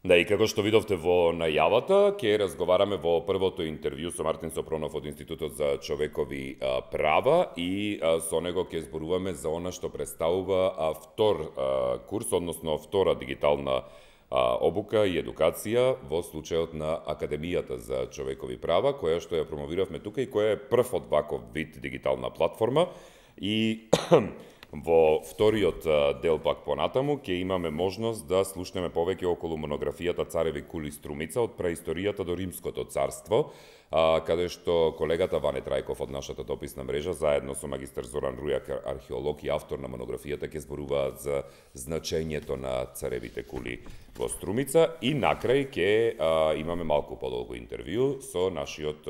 Да, и како што видовте во најавата, ќе разговараме во првото интервју со Мартин Сопронов од Институтот за човекови права и со него ќе зборуваме за она што представува втор курс, односно втора дигитална обука и едукација во случајот на Академијата за човекови права, која што ја промовиравме тука и која е прв од ваков вид дигитална платформа. И во вториот дел пак понатаму ќе имаме можност да слушнеме повеќе околу монографијата Цареви кули Струмица од праисторијата до Римското царство, каде што колегата Ване Трајков од нашата дописна мрежа заедно со магистар Зоран Рујак, археолог и автор на монографијата, ќе зборуваат за значењето на царевите кули во Струмица и накрај ќе имаме малку подолго интервју со нашиот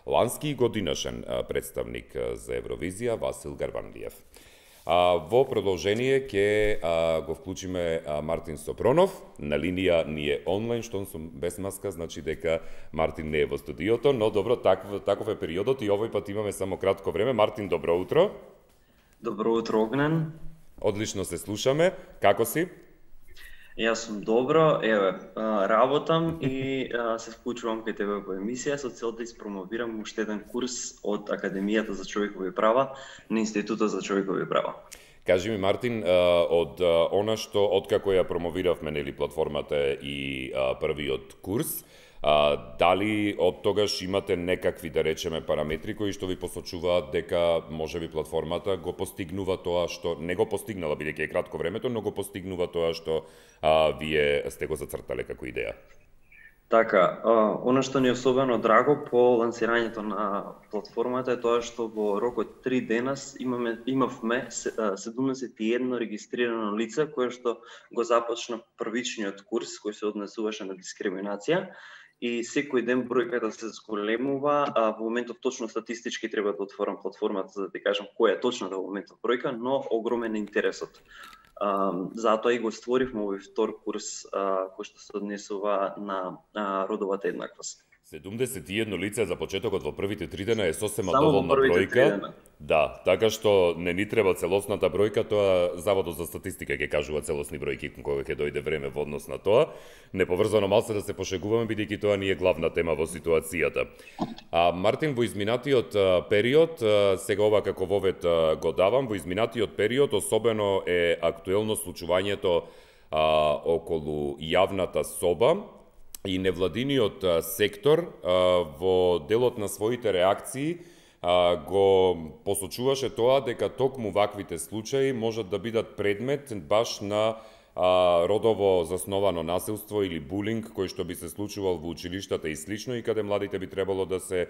лански и годинашен представник за Евровизија Васил Гарвандиев. Во продолжение ќе го вклучиме Мартин Сопронов. На линија ни е онлайн, што сум без маска, значи дека Мартин не е во студиото, но добро, таков е периодот и овој пат имаме само кратко време. Мартин, добро утро. Добро утро, Огнен. Одлично се слушаме. Како си? Јас сум добро, работам и се вклучувам кај тебе во емисија со цел да испромовирам уште еден курс од Академијата за човекови права на Институтот за човекови права. Кажи ми, Мартин, од она што откако ја промовиравме нели платформата и првиот курс, дали од тогаш имате некакви, да речеме, параметри кои што ви посочуваат дека можеби платформата го постигнува тоа што не го постигнала, бидејќи е кратко времето, но го постигнува тоа што вие сте го зацртале како идеја? Така, она што ни е особено драго по лансирањето на платформата е тоа што во рок од 3 дена имавме 71 регистрирано лице кое што го започна првичниот курс кој се однесуваше на дискриминација. И секој ден бројката се зголемува, во моментов точно статистички треба да отворам платформата за да ти кажам која е точната во моментов бројка, но огромен е интересот. Затоа и го створивме овој втор курс кој што се однесува на родовата еднаквост. 71 лице за почетокот во првите 3 дена е сосема доволна бројка. Да, така што не ни треба целосната бројка, тоа Заводот за статистика ќе кажува целосни бројки кога ќе дојде време во однос на тоа. Неповрзано малце да се пошегуваме, бидејќи тоа ни е главна тема во ситуацијата. Мартин, во изминатиот период, сега ова како вовет го давам, во изминатиот период особено е актуелно случувањето околу јавната соба и невладиниот сектор во делот на своите реакции го посочуваше тоа дека токму ваквите случаи можат да бидат предмет баш на родово засновано насилство или булинг кој што би се случувал во училиштата и слично и каде младите би требало да се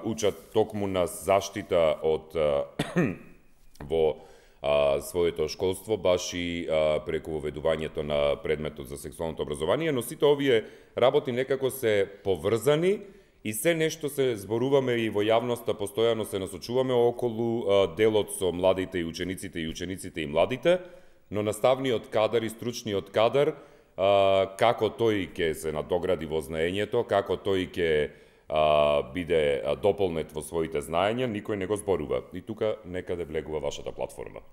учат токму на заштита од во своето школство, баш и преку воведувањето на предметот за сексуалното образование, но сите овие работи некако се поврзани и се нешто се зборуваме и во јавноста постојано се насочуваме околу делот со младите и учениците и младите, но наставниот кадар и стручниот кадар, како тој ќе се надогради во знаењето, како тој ќе биде дополнет во своите знаења, никој не го зборува. И тука некаде влегува вашата платформа.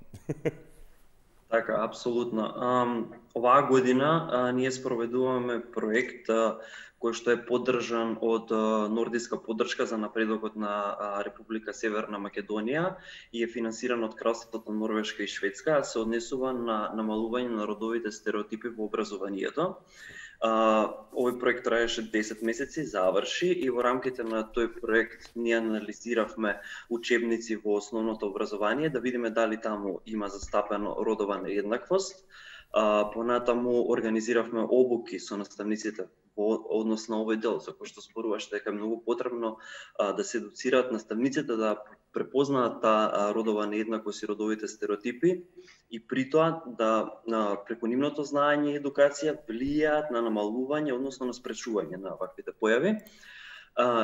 Така, апсолутно. Оваа година ние спроведуваме проект кој што е поддржан од нордиска поддршка за напредокот на Република Северна Македонија и е финансиран од кралството Норвешка и Шведска, се однесува на намалување на родовите стереотипи во образованието. Овој проект траеше 10 месеци, заврши и во рамките на тој проект ние анализиравме учебници во основното образование да видиме дали таму има застапено родова нееднаквост. Понатаму организиравме обуки со наставниците во однос на овој дел, за кој што зборуваш дека е многу потребно да се едуцираат наставниците да препознаат таа родова нееднаквост и родовите стереотипи и при тоа да преку нивното знаење и едукација влијаат на намалување, односно на спречување на ваквите појави.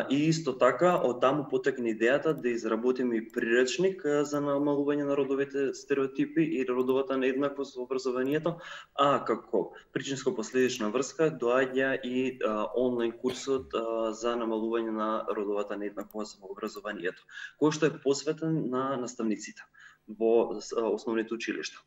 И исто така, од таму потекне идејата да изработиме и приречник за намалување на родовите стереотипи и родовата нееднаквост во образованието, а како причинско-последична врска доаѓа и онлайн курсот за намалување на родовата нееднаквост во образованието, кој што е посветен на наставниците во основните училишта.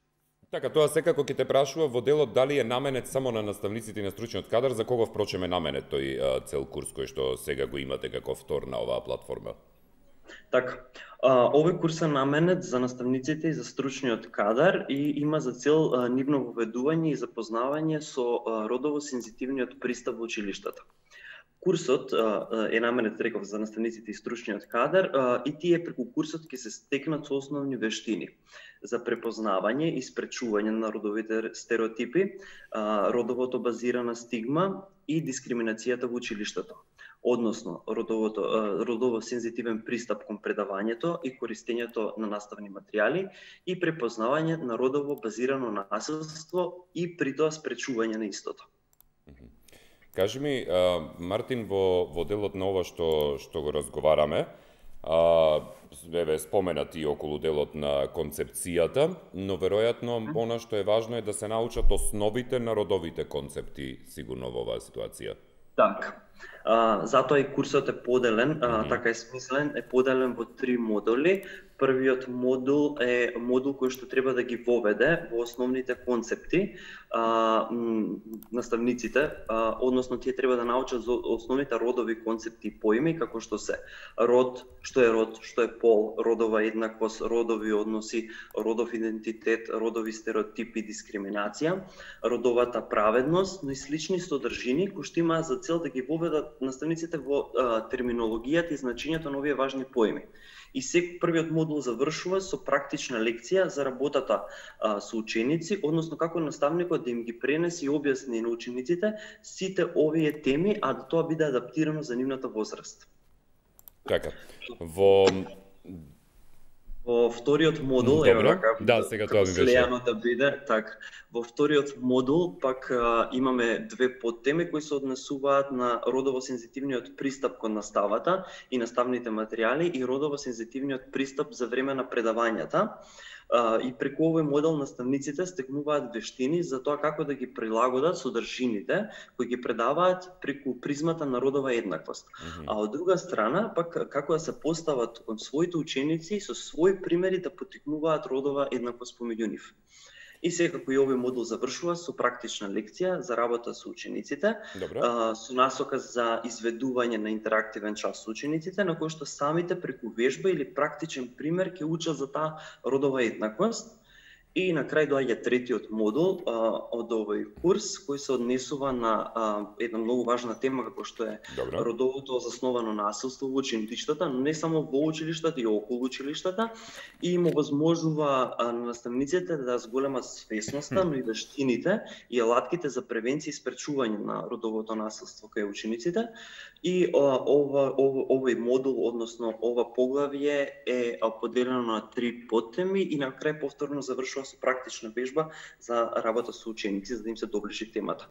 Така, тоа секако ќе те прашува во делот дали е наменет само на наставниците и на стручниот кадар, за кого впрочем е наменет тој цел курс кој што сега го имате како втор на оваа платформа. Така, овој курс е наменет за наставниците и за стручниот кадар и има за цел нивно воведување и запознавање со родово сензитивниот пристап во училиштата. Курсот е наменет, реков, за наставниците и стручниот кадар и тие преку курсот ќе се стекнат со основни вештини за препознавање и спречување на родовите стереотипи, родовото базирана стигма и дискриминацијата во училиштето. Односно, родово сензитивен пристап кон предавањето и користењето на наставни материјали и препознавање на родово базирано насилство и при тоа спречување на истото. Кажи ми, Мартин, во делот на ова што го разговараме, споменати околу делот на концепцијата, но веројатно она што е важно е да се научат основите на родовите концепти, сигурно во оваа ситуација. Така. Затоа и курсот е поделен, така е смислен, е поделен во 3 модули. Првиот модул е модул кој што треба да ги воведе во основните концепти наставниците, односно тие треба да научат за основните родови концепти и поими, како што се род, што е пол, родова еднаквост, родови односи, родов идентитет, родови стереотипи, дискриминација, родовата праведност, но и слични содржини кои што имаат за цел да ги воведат наставниците во терминологијата и значењето на овие важни поими. И првиот модул завршува со практична лекција за работата со ученици, односно како наставникот да им ги пренесе и објасни на учениците сите овие теми, а да тоа биде адаптирано за нивната возраст. Така. Во вториот модул, сега тоа ми беше. Да биде, така. Во вториот модул пак имаме 2 подтеми кои се однесуваат на родово сензитивниот пристап кон наставата и наставните материјали и родово сензитивниот пристап за време на предавањата. И преку овој модел наставниците стекнуваат вештини за тоа како да ги прилагодат содржините кои ги предаваат преку призмата на родова еднаквост. А од друга страна, пак како да се постават кон своите ученици и со своји примери да поттикнуваат родова еднаквост помеѓу нив. И секако и овој модул завршува со практична лекција за работа со учениците, со насока за изведување на интерактивен час со учениците, на кој што самите преку вежба или практичен пример ќе учат за таа родова еднаквост. И на крај доаѓа третиот модул од овој курс, кој се однесува на една многу важна тема како што е родовото засновано насилство во училиштата, но не само во училиштата и околу училиштата, и им овозможува на наставниците да зголемат свесноста, но и вештините и алатките за превенција и спречување на родовото насилство кај учениците. И овој модул, односно ова поглавје е поделено на 3 подтеми и на крај повторно завршува со практична вежба за работа со ученици, за да им се доближи темата.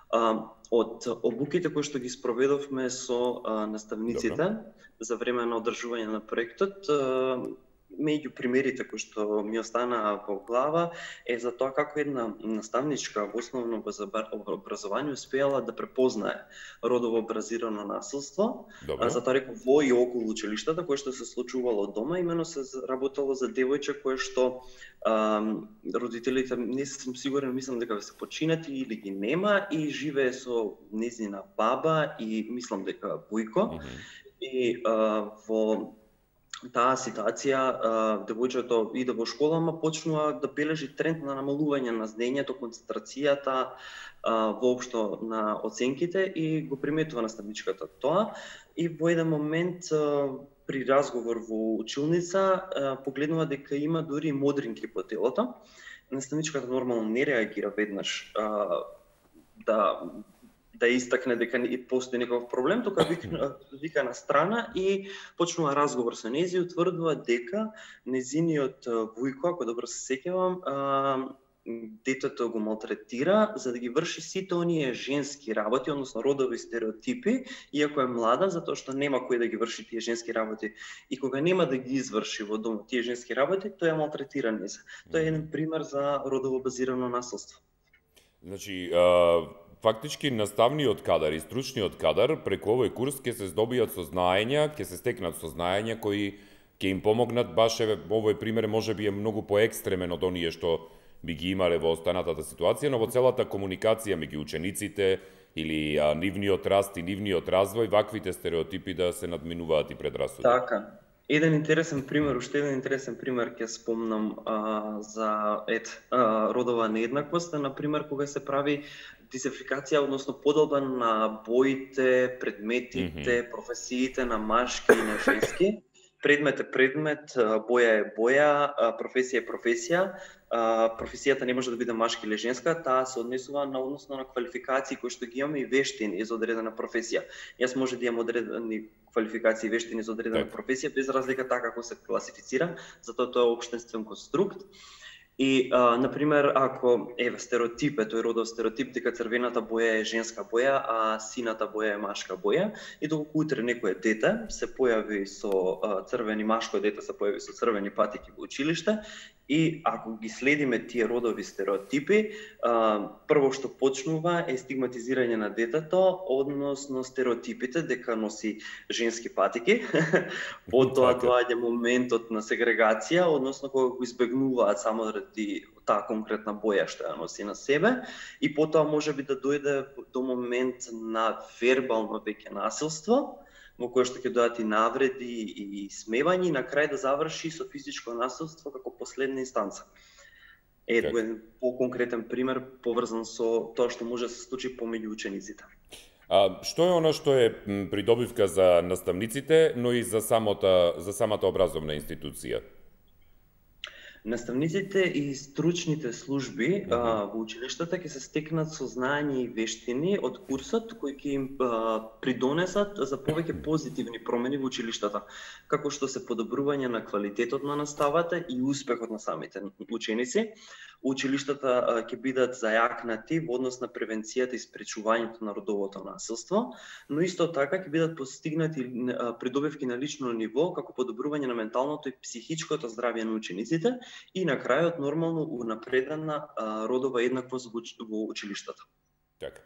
Од обуките кои што ги спроведовме со наставниците за време на одржување на проектот, меѓу примерите кои што ми останаа во глава е за тоа како една наставничка во основно образование успеала да препознае родово базирано насилство, затоа реков во и околу училиштата кое што се случувало дома, имено се работело за девојче кое што родителите, не сум сигурен, мислам дека се починати или ги нема и живее со нејзина баба и мислам дека војко. И во таа ситуација девојчето иде во школа, ама почнува да бележи тренд на намалување на знаењето, концентрацијата, воопшто на оценките и го приметува наставничката тоа. И во еден момент при разговор во училница погледнува дека има дури модринки по телото. Наставничката нормално не реагира веднаш да истакне дека постои некој проблем, тука вика на страна и почнува разговор со нејзи и утврдува дека нејзиниот војко, ако добро се сеќавам, детето го малтретира за да ги врши сите оние женски работи, односно родови стереотипи, иако е млада, затоа што нема кој да ги врши тие женски работи. И кога нема да ги изврши во домот тие женски работи, тој ја малтретира нејза. Тоа е еден пример за родово базирано насилство. Значи, фактички наставниот кадар и стручниот кадар преку овој курс ќе се здобијат со знаења, ќе се стекнат со знаења кои ќе им помогнат, баш овој пример можеби е многу поекстремен од оние што би ги имале во останатата ситуација, но во целата комуникација меѓу учениците или нивниот раст и нивниот развој, ваквите стереотипи да се надминуваат и предрасуди. Така. Уште еден интересен пример ќе спомнам за родова нееднаквост, например кога се прави дисификација, односно поделба на боите, предметите, професиите на машки и на женски. Предмет е предмет, боја е боја, професија е професија. Професијата не може да биде машка или женска, таа се однесува на односно на квалификации кои што ги имаме и вештини за одредена професија. Јас може да имам одредени квалификации и вештини за одредена професија, без разлика така како се класифицира, затоа тоа е општествен конструкт. И, например, ако стереотип е тој родов стереотип дека црвената боја е женска боја, а сината боја е машка боја, и доколку утре некое дете се појави со црвени, машко дете се појави со црвени патики во училиште, и ако ги следиме тие родови стереотипи, прво што почнува е стигматизирање на детето, односно стереотипите дека носи женски патики. Потоа доаѓа моментот на сегрегација, односно кога го избегнуваат само заради таа конкретна боја што ја носи на себе, и потоа можеби да дојде до момент на вербално веќе насилство, во кое што ќе дојдат и навреди и смевање, и на крај да заврши со физичко насилство како последна инстанца. Еден по-конкретен пример поврзан со тоа што може да се случи помеѓу учениците. Што е оно што е придобивка за наставниците, но и за самата образовна институција? Наставниците и стручните служби во училиштата ќе се стекнат со знаење и вештини од курсот кои ќе им придонесат за повеќе позитивни промени во училиштата, како што се подобрување на квалитетот на наставата и успехот на самите ученици. Училиштата ќе бидат зајакнати во однос на превенцијата и спречувањето на родовото насилство, но исто така ќе бидат постигнати придобивки на лично ниво како подобрување на менталното и психичкото здравје на учениците и на крајот нормално унапредена родова еднаквост во училиштата. Така.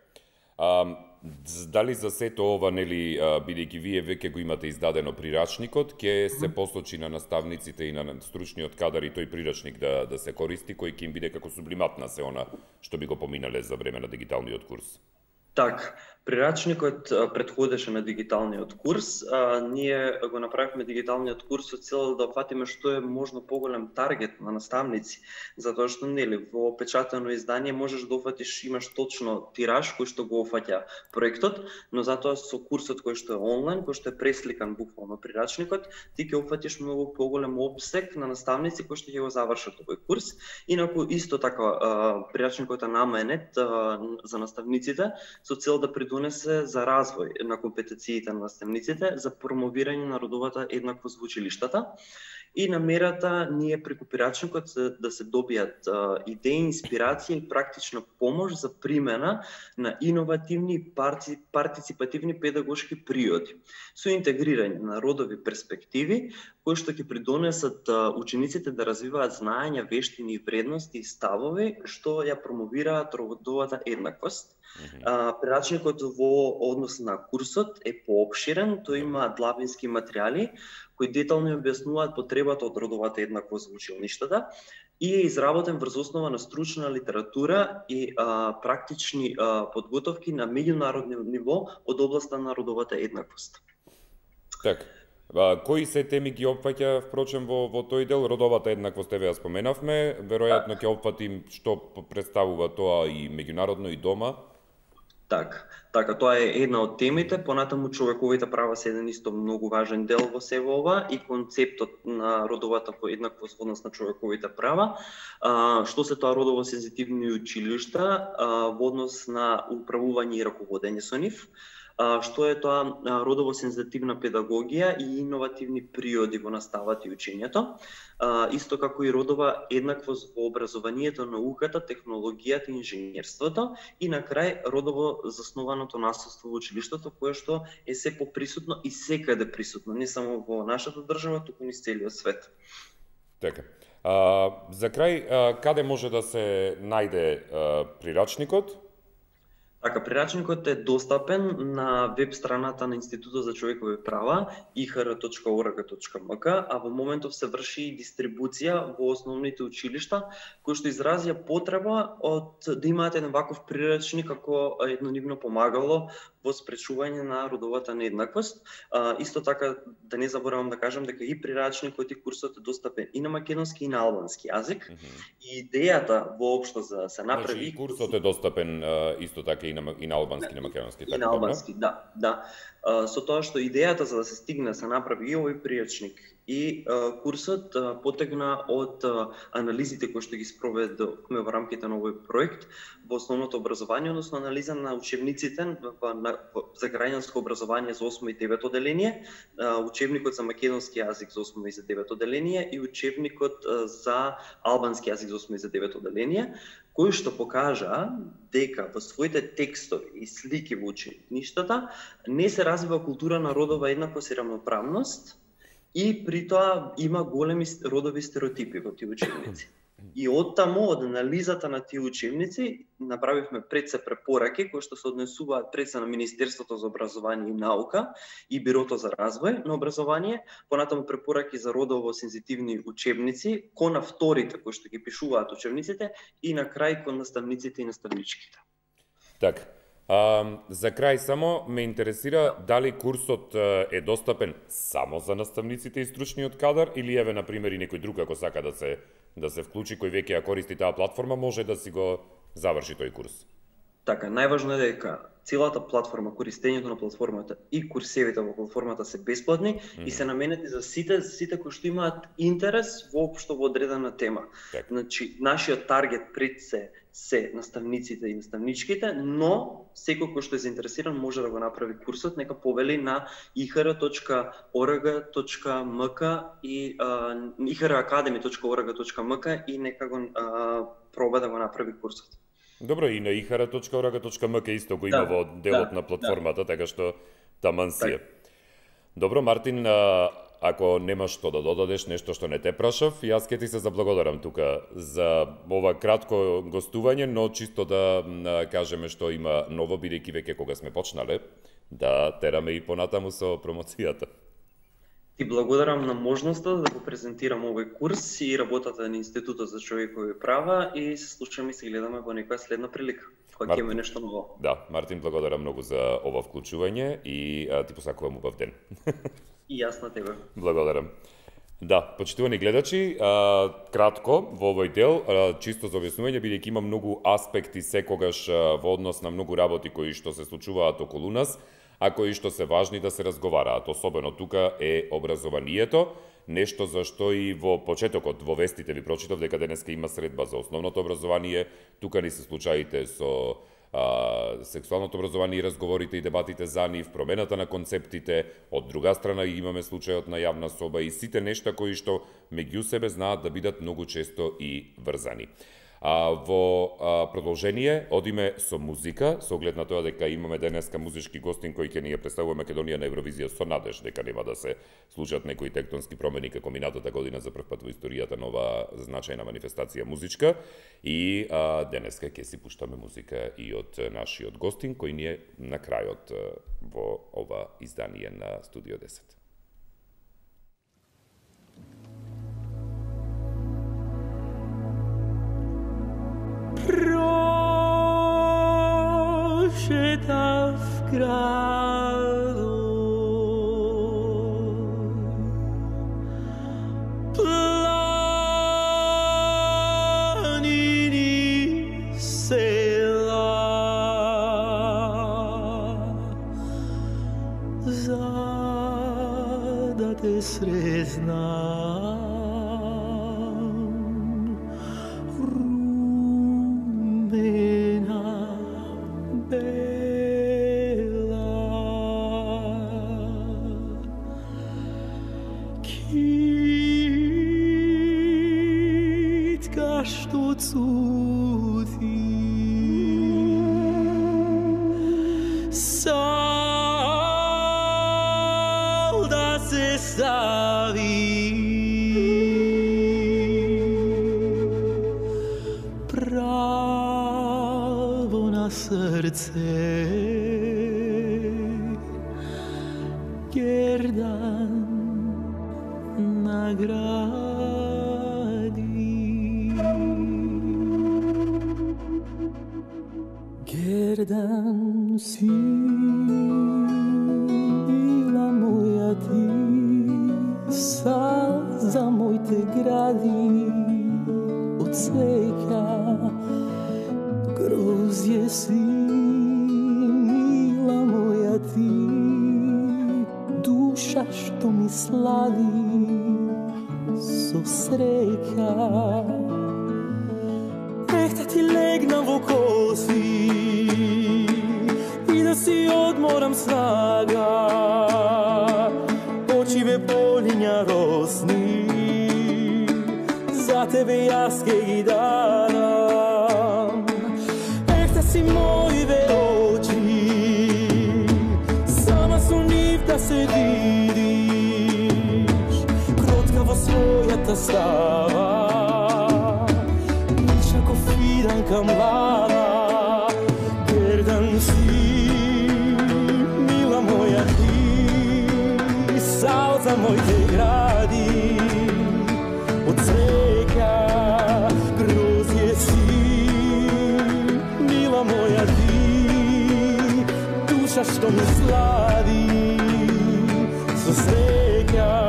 Дали за сето ова, нели, бидејќи вие веќе го имате издадено прирачникот, ќе се посочи на наставниците и на стручниот кадар и тој прирачник да се користи, кој ќе им биде како сублимат на се она што би го поминале за време на дигиталниот курс? Так, прирачникот претходеше на дигиталниот курс. Ние го направивме дигиталниот курс со цел да фатиме што е можно поголем таргет на наставници, затоа што нели во печатено издание можеш да офатиш, имаш точно тираж кој што го офаќа проектот, но затоа со курсот кој што е онлайн, кој што е пресликан буквално прирачникот, ти ќе офатиш многу поголем опсег на наставници кои што ќе го завршат овој курс. Инаку исто така прирачникот е наменет за наставниците со цел да придонесе за развој на компетенциите на наставниците, за промовирање на родовата еднаквост во училиштата. И намерата ние преку прирачникот да се добијат идеи, инспирација и практична помош за примена на иновативни партиципативни педагошки приоди, со интегрирање на родови перспективи, кои што ќе придонесат учениците да развиваат знаења, вештини и вредности и ставови што ја промовираат родовата еднаквост. Прирачникот во однос на курсот е поопширен, тој има длабински материјали кои детално објаснуваат потребата од родовата еднаквост во училиштата и е изработен врз основа на стручна литература и практични подготовки на меѓународно ниво од областа на родовата еднаквост. Така. Кои се теми ги опфаќа впрочем во тој дел? Родовата еднаквост еве ја споменавме, веројатно ќе опфатим што представува тоа и меѓународно и дома. Така, тоа е една од темите, понатаму човековите права се еден исто многу важен дел во севе ова и концептот на родовата еднаквост во однос на човековите права. Што се тоа родово сензитивни училишта во однос на управување и раководење со нив, што е тоа родово сензитивна педагогија и иновативни приоди во наставата и учењето, исто како и родова еднаквост во образованието, науката, технологијата и инженерството и на крај родово заснованото насилство во училиштето, кое што е се поприсутно и секаде присутно, не само во нашата држава, туку и целиот свет. Така. За крај, каде може да се најде прирачникот? Така, прирачникот е достапен на веб страната на Институтот за човекови права ihr.org.mk, а во моментов се врши и дистрибуција во основните училишта, кои што изразија потреба од да имаат еден ваков прирачник како едно нивно помагало во спречување на родовата нееднаквост. Исто така, да не заборавам да кажам дека и прирачникот и курсот е достапен и на македонски и на албански јазик. И идејата воопшто за се направи... Значи, и курсот е достапен исто така и на албански, и на македонски. И на албански, да. Со тоа што идејата за да се стигне се направи и овој пријачник и курсот потегна од анализите кои што ги спроведовме во рамките на овој проект во основното образование, односно анализа на учебниците за граѓанско образование за 8 и 9 оделение, учебникот за македонски јазик за 8 и за 9 оделение и учебникот за албански јазик за 8 и за 9 оделение, кој што покажа дека во своите текстови и слики во учеништата не се развива култура на родова еднаквост и рамноправност и при тоа има големи родови стереотипи во тие учебници. И оттаму, од анализата на тие учебници, направивме пред се препораки кои што се однесуваат пред се на Министерството за образование и наука и Бирото за развој на образование, понатаму препораки за родово сензитивни учебници, кон авторите кои што ги пишуваат учебниците и на крај кон наставниците и наставничките. Така. За крај само ме интересира дали курсот е достапен само за наставниците и стручниот кадар или еве на пример и некој друг ако сака да се вклучи кој веќе ја користи таа платформа може да си го заврши тој курс. Така, најважно е дека целата платформа, користењето на платформата и курсевите во платформата се бесплатни и се наменети за сите кои што имаат интерес воопшто во одредена тема. Так. Значи, нашиот таргет пред се наставниците и наставничките, но секој кој што е заинтересиран може да го направи курсот, нека повели на ihr.org.mk и ir.academy.org.mk и нека го проба да го направи курсот. Добро, и на ihara.org.mk исто го има во делот на платформата, така што таман си е. Добро, Мартин, ако немаш што да додадеш, нешто што не те прашав, јас ке ти се заблагодарам тука за ова кратко гостување, но чисто да кажеме што има ново, бидејќи веќе кога сме почнале, да тераме и понатаму со промоцијата. Ти благодарам на можноста да го презентирам овој курс и работата на Институтот за човекови права и се слушаме и се гледаме во некоја следна прилика, кога ќе има нешто ново. Да, Мартин, благодарам многу за ова вклучување и ти посакувам убав ден. И јас на тебе. Благодарам. Да, почитувани гледачи, кратко во овој дел, чисто за објаснување, бидејќи има многу аспекти секогаш во однос на многу работи кои што се случуваат околу нас, а кои што се важни да се разговараат. Особено тука е образованието, нешто за што и во почетокот, во вестите ви прочитав дека денеска има средба за основното образование, тука ни се случаите со сексуалното образование и разговорите и дебатите за нив, промената на концептите, од друга страна имаме случајот на јавна соба и сите нешта кои што меѓу себе знаат да бидат многу често и врзани. Во продолжение одиме со музика, со оглед на тоа дека имаме денеска музички гостин кој ќе ни ја представува Македонија на Евровизија со надеж дека нема да се случат некои тектонски промени како минатата година за прв пат во историјата на ова значајна манифестација музичка и денеска ќе си пуштаме музика и од нашиот гостин кој ни е на крајот во ова издание на Студио 10. Prošeta v gradu, planini sela, da te sreznam. srce Gerdan nagradi. Gerdan si bila moja ti, za moj te gradi od cveka. Grozje si, mila moja ti, duša što mi slavi so sreka. Nehta ti legnem v kosi i da si odmoram snaga, oči me polinja rosni, za tebe jaz kaj dam. Nehta si moje oči, sama su njih da se vidiš, krotkavo svoja ta stava, lična ko firanka mlada. Gerdan si, mila moja ti, salza moj te gradi od cveka. Grozje si, mila moja ti, duša što me slavi so sreka.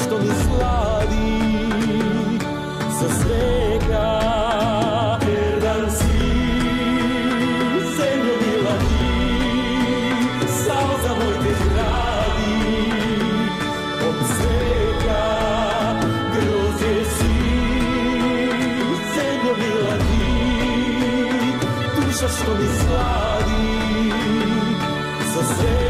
Što mi slavi sa sreka. Gerdan si, zemljo mila ti, salza moj te gradi od sveka. Grozje si, zemljo mila ti, duša što mi slavi sa sreka.